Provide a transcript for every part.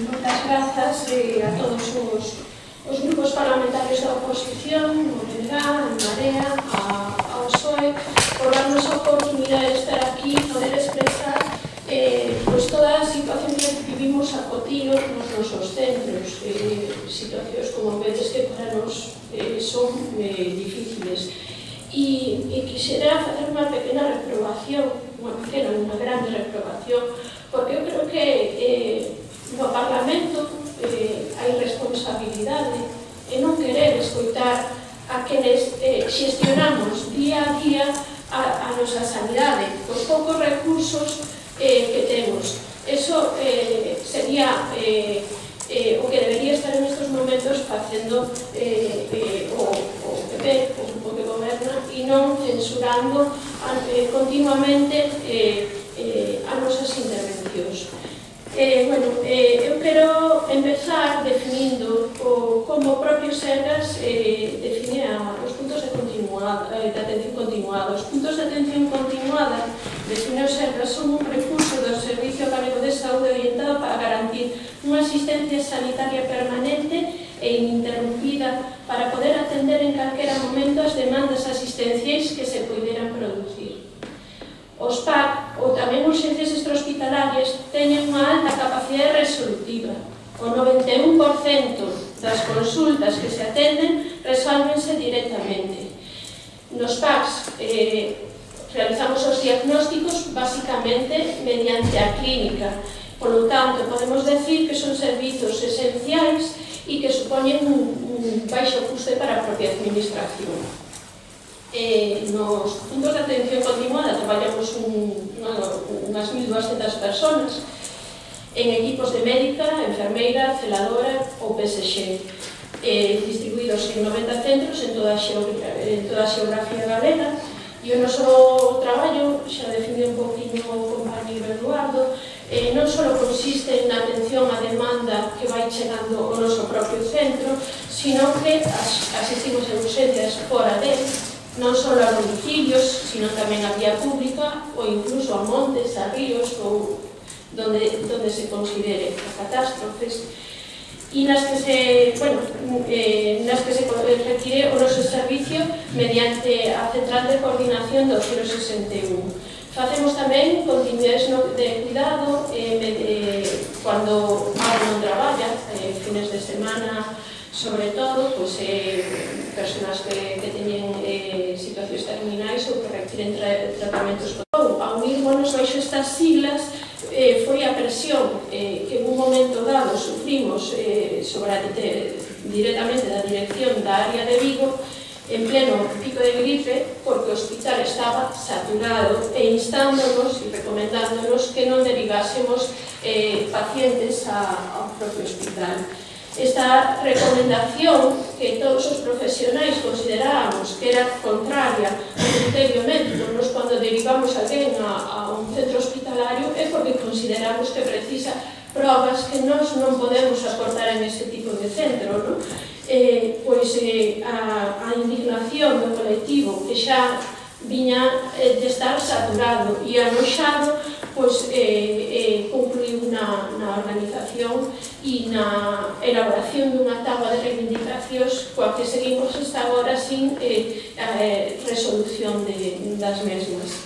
Moitas grazas a todos os grupos parlamentarios da oposición, o BNG, a Marea, ao PSOE, por darnos a oportunidade de estar aquí e poder expresar toda a situación que vivimos a cotío nos nosos centros, situacións como vedes que para nos son difíciles. E quixera facer unha pequena reprobación, unha grande reprobación, porque eu creo que no Parlamento hai responsabilidade en non querer escoitar a quenes xestionamos día a día a nosa sanidade, os poucos recursos que temos. Eso sería o que debería estar en estes momentos facendo o PP, o grupo que goberna, e non censurando continuamente as nosas intervencións. Eu quero empezar definindo como o propio Sergas define os puntos de atención continuada. Os puntos de atención continuada, define o Sergas, son un recurso do Servicio Galego de Saúde orientado para garantir unha asistencia sanitaria permanente e ininterrumpida para poder atender en calquera momento as demandas asistenciais que se poideran producir. Os PAC, ou tamén urxencias extrahospitalarias, teñen unha alta capacidade resolutiva. O 91% das consultas que se atenden resolvense directamente. Nos PACs realizamos os diagnósticos basicamente mediante a clínica. Por lo tanto, podemos decir que son servizos esenciais e que supoñen un baixo custe para a propia administración. Nos puntos de atención continuada traballamos unhas 1.200 personas en equipos de médica, enfermeira, celadora ou PSG, distribuídos en 90 centros en toda a xeografía galega. E o noso traballo, xa definiu un poquinho o compañero Eduardo, non só consiste na atención á demanda que vai chegando ao noso propio centro, sino que asistimos en urxencias fora dele, non só a domicilios, sino tamén a vía pública ou incluso a montes, a ríos ou donde se considere a catástrofes, e nas que se retire o noso servicio mediante a Central de Coordinación do 061. Facemos tamén continuidades de cuidado cando non traballa, fines de semana, sobre todo, persoas que teñen situacións terminais ou que requiren tratamentos. A unirmonos baixo estas siglas foi a presión que en un momento dado sufrimos directamente da dirección da área de Vigo en pleno pico de gripe, porque o hospital estaba saturado e instándonos e recomendándonos que non derivásemos pacientes ao propio hospital. Esta recomendación que todos os profesionais considerábamos que era contraria ao criterio médico, nos cando derivamos alguén a un centro hospitalario, é porque consideramos que precisa probas que nós non podemos aportar en ese tipo de centro, non? A indignación do colectivo que xa viña de estar saturado e anoxado, concluiu na organización e na elaboración dunha táboa de reivindicacións coa que seguimos hasta agora sin resolución das mesmas.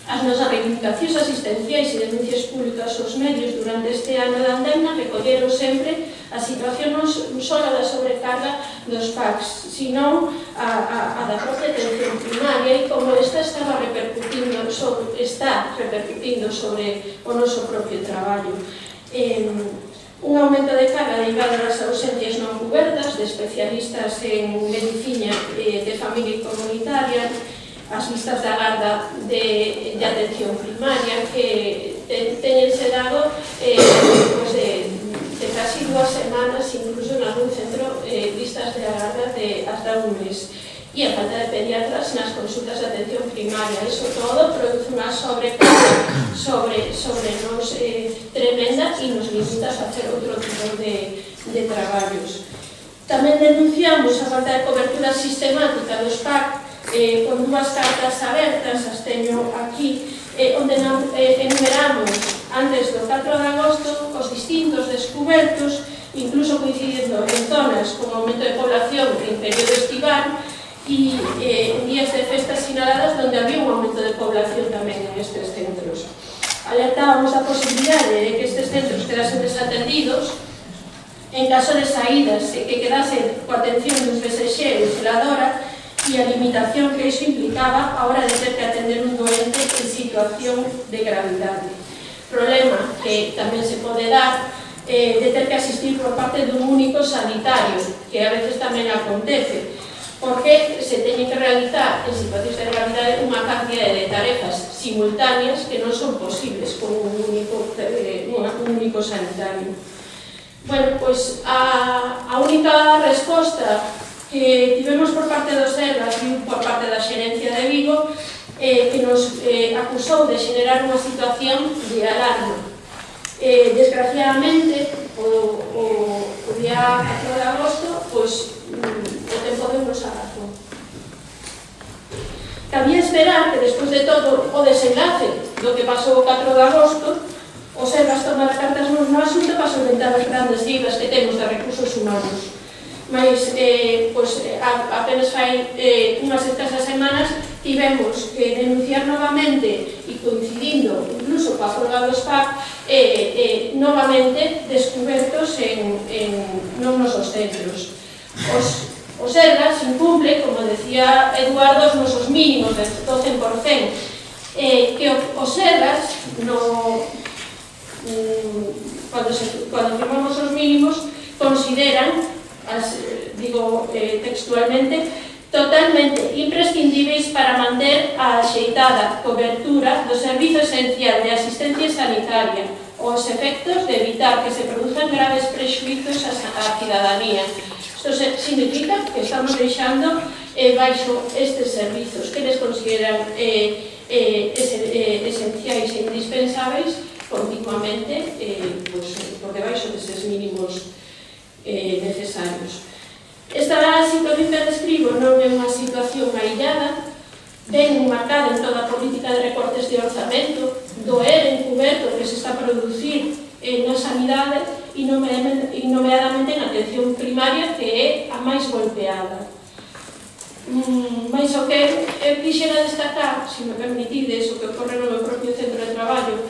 As nosas reivindicacións asistenciais e denuncias públicas aos medios durante este ano de andemna recolleron sempre a situación non só da sobrecarga dos PACs, sino a da propia atención primaria e como esta está repercutindo sobre o noso propio traballo. Un aumento de carga derivado das ausencias non cubertas de especialistas en medicina de familia e comunitaria, as listas de agarda de atención primaria que teñense dado de casi 2 semanas, incluso en algún centro, listas de agarda de hasta un mes. E a falta de pediatras nas consultas de atención primaria. Iso todo produce unha sobrecarga sobre nos tremenda e nos limita a facer outro tipo de traballos. Tamén denunciamos a falta de cobertura sistemática dos PAC con 2 cartas abertas, as teño aquí, onde enumeramos antes do 4 de agosto, os distintos descubertos, incluso coincidindo en zonas con aumento de población en período estival e en días de festas sinaladas donde había un aumento de población tamén en estes centros. Alertábamos a posibilidade de que estes centros quedasen desatendidos en caso de saídas que quedasen coa atención dun PSX ou celadora e a limitación que iso implicaba a hora de ter que atender un doente en situación de gravidade. Problema que tamén se pode dar de ter que asistir por parte dun único sanitario, que a veces tamén acontece, porque se teñen que realizar en situacións de gravidade unha cantidad de tarefas simultáneas que non son posibles con un único sanitario. Bueno, pois a única resposta que tivemos por parte dos Sergas e por parte da xerencia de Vigo que nos acusou de xenerar unha situación de alarma. Desgraciadamente, o día 4 de agosto, pois o tempo deu-nos a razón. Cabía esperar que, despois de todo o desenlace do que pasou o 4 de agosto, os Sergas tomara cartas no asunto para solventar as grandes dívdas que temos de recursos humanos. Mas, apenas fai unhas escasas semanas, tivemos que denunciar novamente e coincidindo incluso coa folga do SPAC novamente descubertos non nosos centros. Os Sergas incumplen, como decía Eduardo, os nosos mínimos do 100%, que os Sergas cando firmamos os mínimos consideran, digo textualmente, totalmente imprescindíveis para manter a axeitada cobertura do servizo esencial de asistencia sanitaria aos efectos de evitar que se produzan graves prexuizos á cidadanía. Isto significa que estamos deixando baixo estes servizos que les consideran esenciais e indispensáveis continuamente por debaixo destes mínimos necesarios. Esta situación que describo non é unha situación aillada, ven marcada en toda a política de recortes de orzamento, do ERE encuberto que se está a producir na sanidade e nomeadamente na atención primaria, que é a máis golpeada. Mais o que eu quixera destacar, se me permitides, o que ocorre no meu propio centro de traballo,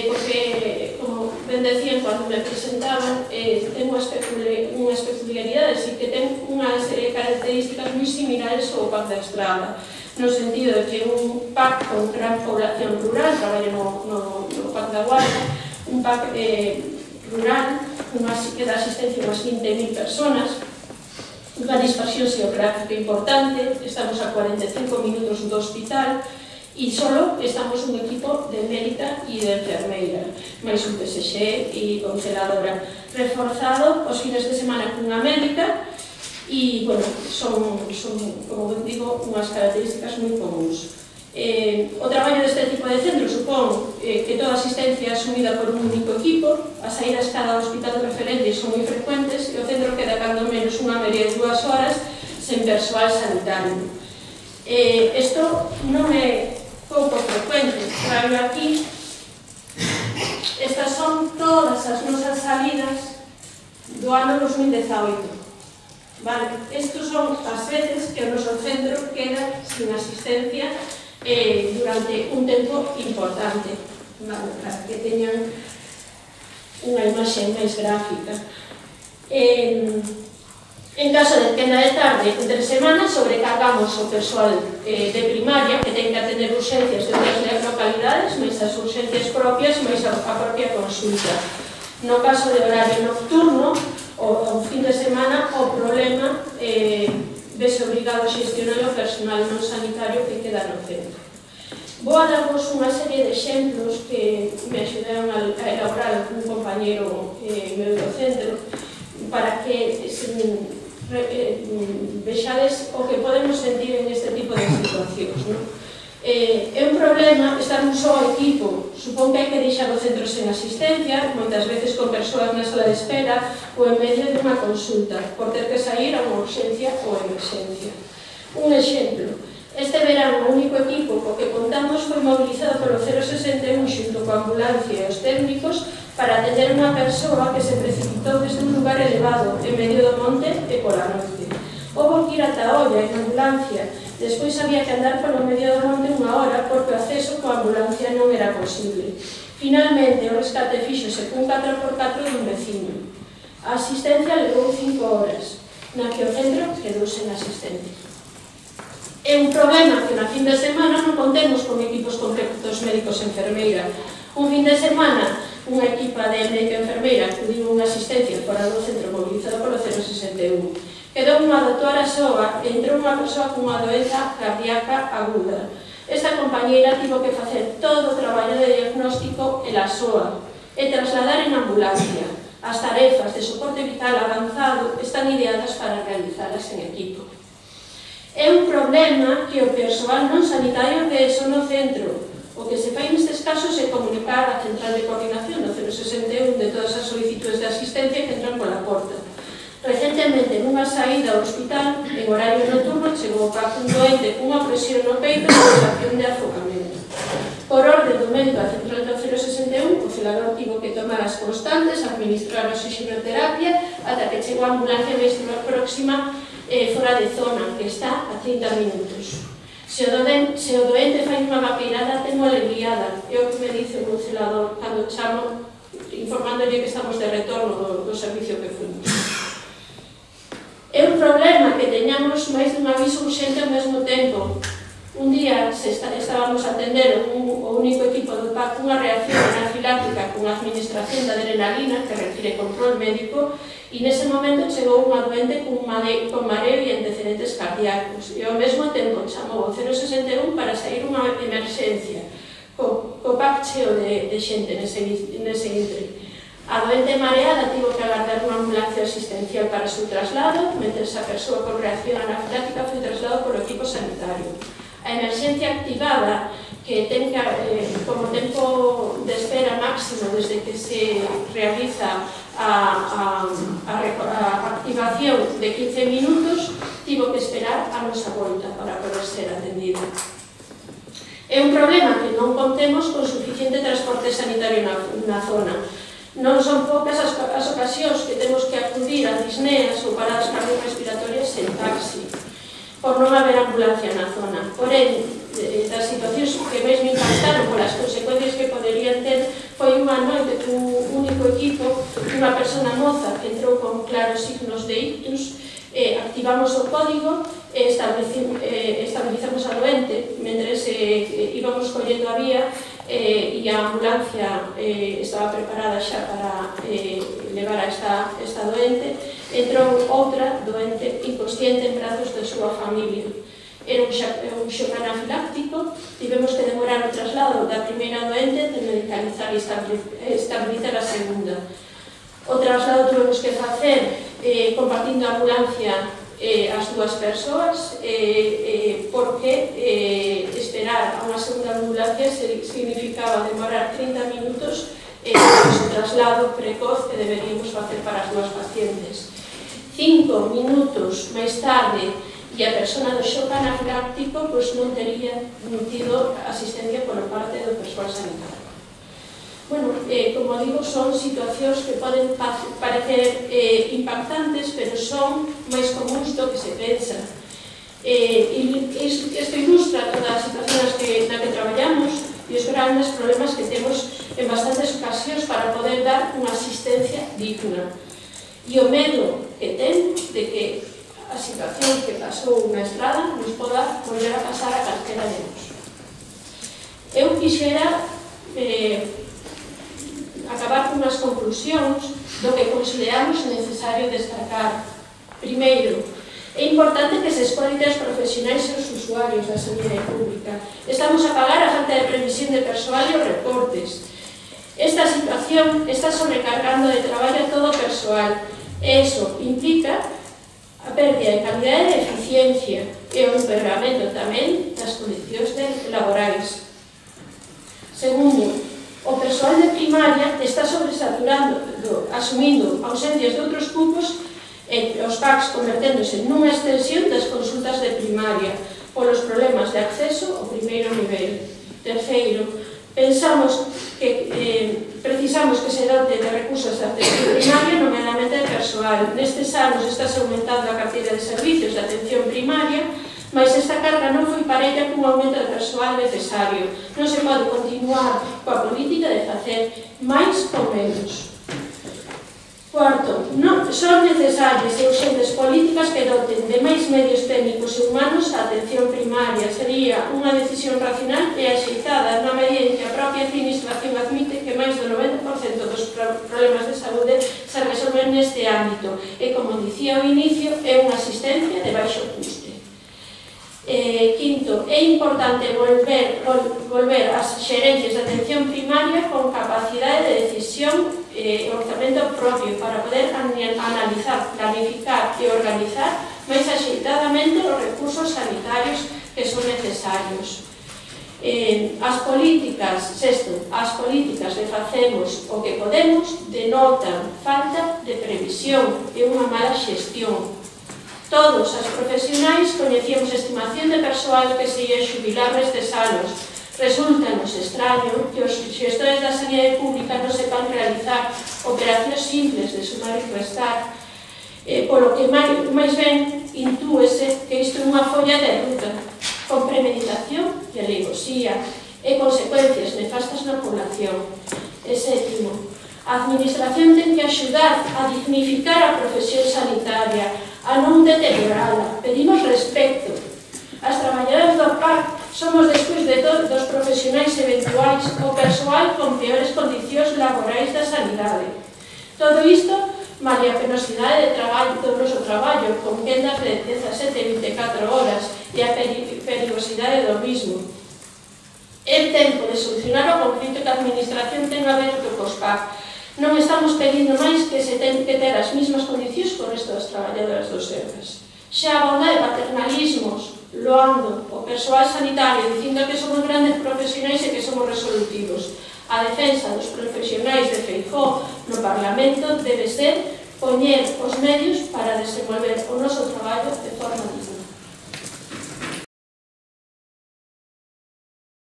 porque, como ben decían cando me presentaban, ten unhas peculiaridades e que ten unhas características moi similares ao PAC da Estrada, no sentido de que un PAC con gran población rural, traballo no PAC da Guarda, un PAC rural, que dá asistencia a unhas 20.000 personas, unha dispersión xeográfica importante, estamos a 45 minutos do hospital e só estamos un equipo de médica e de enfermeira, máis un PSX e con celadora, reforzado os fines de semana cunha médica e, bueno, son, como digo, unhas características moi comuns. O traballo deste tipo de centro supón que toda a asistencia é asumida por un único equipo, as saídas cada hospital de referencia son moi frecuentes e o centro queda cando menos unha media de 2 horas sen persoal sanitario. Isto non é pouco frecuente, traio aquí, estas son todas as nosas salidas do ano 2018. Vale, estos son as veces que o noso centro queda sin asistencia durante un tempo importante, vale, para que teñan unha imaxe máis gráfica. En caso de quenda de tarde, entre semanas, sobrecargamos o persoal de primaria, que ten que atender urxencias de outras localidades, máis as urxencias propias, máis a propia consulta. No caso de horario nocturno, o fin de semana, o problema vese obrigado a xestionar o personal non sanitario que queda no centro. Vou a darvos unha serie de exemplos que me axudaron a elaborar un compañero meu do centro para que vexades o que podemos sentir en este tipo de situacións. É un problema estar un só equipo, supón que hai que deixar o centro sen asistencia, moitas veces con persoas na sala de espera ou en medio de unha consulta, por ter que sair a unha urxencia ou emerxencia. Un exemplo, este verano o único equipo co que contamos foi mobilizado polo 061 xunto coa ambulancia e os técnicos para atender unha persoa que se precipitou desde un lugar elevado en medio do monte e pola noite. Houbo que ir ata a olla en ambulancia, despois había que andar polo medio do monte unha hora porque o acceso coa ambulancia non era posible. Finalmente, o rescate fíxose cun 4x4 dun veciño. A asistencia levou 5 horas, na que o centro quedou sen asistente. É un problema que na fin de semana non contemos con equipos completos médicos e enfermeira. Un fin de semana, unha equipa de médico e enfermeira acudiu unha asistencia fora do centro mobilizado polo 061. Quedou unha doutora soa e entrou unha persoa cunha doenza cardíaca aguda. Esta compañeira tivo que facer todo o traballo de diagnóstico ela soa e trasladar en ambulancia. As tarefas de soporte vital avanzado están ideadas para realizalas en equipo. É un problema que o persoal non sanitario que son no centro. O que se fai nestes casos é comunicar a central de coordinación do 061 de todas as solicitudes de asistencia que entran pola porta. Recentemente, nunha saída ao hospital, en horario nocturno, chegou un doente cunha presión no peito e sensación de afocamento. Por orde do médico da central do 061, o celador tivo que tomar as constantes, administrar a oxigenoterapia, ata que chegou a ambulancia máis próxima fora de zona, que está a 30 minutos. Se o doente fai unha vaqueirada, tengo alegriada, é o que me dice o celador cando chamo, informándolle que estamos de retorno do servicio que fuimos. É un problema que teñamos máis dun aviso urxente ao mesmo tempo. Un día estábamos a atender o único equipo do PAC unha reacción anafiláctica con administración de adrenalina que requiere control médico e nese momento chegou unha doente con mareo e antecedentes cardíacos e ao mesmo tempo chamou o 061 para sair unha emerxencia co PAC cheo de xente nese intre. A doente mareada tivo que agardar unha ambulancia asistencial para o seu traslado, mentre a persoa con reacción anafiláctica foi trasladado polo equipo sanitario. A emerxencia activada, que ten como tempo de espera máximo desde que se realiza a activación de 15 minutos, tivo que esperar a nosa volta para poder ser atendida. É un problema que non contemos con suficiente transporte sanitario na zona. Non son poucas as ocasións que temos que acudir a disneas ou paradas cardiorrespiratorias en taxi, por non haber ambulancia na zona. Porén, das situacións que máis me impactaron polas consecuencias que poderían ter foi unha noite cun único equipo, unha persona moza que entrou con claros signos de ictus, activamos o código e estabilizamos a doente mentre íbamos collendo a vía e a ambulancia estaba preparada xa para levar a esta doente. Entrou outra doente inconsciente en brazos de súa familia. Era un xoc anafiláctico, tivemos que demorar o traslado da primeira doente de medicalizar e estabilizar a segunda. O traslado tuvemos que facer compartindo a ambulancia as dúas persoas porque esperar a unha segunda ambulancia significaba demorar 30 minutos o traslado precoz que deberíamos facer para as dúas pacientes. 5 minutos máis tarde e a persona do xoc anafiláctico non tería tido asistencia por parte do persoal sanitario. Bueno, como digo, son situacións que poden parecer impactantes, pero son máis comuns do que se pensa. Isto ilustra toda a situación na que traballamos e os grandes problemas que temos en bastantes ocasións para poder dar unha asistencia digna. E o medo que ten de que a situación que pasou na estrada nos poda volver a pasar a calquera de nós. Eu quixera acabar con as conclusións do que consideramos necesario destacar. Primeiro, é importante que se escoite aos profesionais e aos usuarios da sanidade pública. Estamos a pagar a falta de previsión de persoal e os recortes. Esta situación está sobrecargando de traballo a todo o persoal e iso implica a pérdida de calidade e de eficiencia e o empeoramento tamén das condicións laborais. Segundo, o persoal de primaria está sobresaturando, asumindo ausencias de outros cupos e os PACs converténdose nunha extensión das consultas de primaria polos problemas de acceso ao primeiro nivel. Terceiro, Pensamos que precisamos que se dote de recursos de atención primaria, nomeadamente de persoal. Nestes anos está aumentando a carteira de servicios de atención primaria, mas esta carga non foi parella cun aumento de persoal necesario. Non se pode continuar coa política de facer máis ou menos. Cuarto, son necesarias e urxentes políticas que doten de máis medios técnicos e humanos a atención primaria. Sería unha decisión racional e axeitada na medida en que a propia administración admite que máis do 90% dos problemas de saúde se resolven neste ámbito e, como dicía ao inicio, é unha asistencia de baixo custe. Quinto, é importante volver ás xerencias de atención primaria con capacidade de decisión e orzamento propio para poder analizar, planificar e organizar máis axeitadamente os recursos sanitarios que son necesarios. As políticas de facemos o que podemos denotan falta de previsión e unha mala xestión. Todos os profesionais coñecíamos estimación de persoal que se ia xubilar nestes anos. Resulta-nos extraño que os xestores da sanidade pública non sepan realizar operacións simples de sumar e restar, polo que máis ben intúese que isto é unha folla de ruta, con premeditación e alevosía e consecuencias nefastas na población. E sétimo, a administración ten que axudar a dignificar a profesión sanitaria, a non deteriorala. Pedimos respecto. As traballadoras do PAC somos, despois de todos os profesionais eventuais, o persoal con peores condicións laborais da sanidade. Todo isto, malia a penosidade do noso traballo, con quendas de 17 e 24 horas, e a perigosidade do mismo. É tempo de solucionar o conflito que a administración ten aberto cos PAC. Non estamos pedindo máis que se ten que ter as mesmas condicións co resto das traballadoras dos sergas. Xa a bondade de paternalismos, loando o persoal sanitario, dicindo que somos grandes profesionais e que somos resolutivos. A defensa dos profesionais de Feijóo no Parlamento debe ser poñer os medios para desenvolver o noso traballo de forma digna.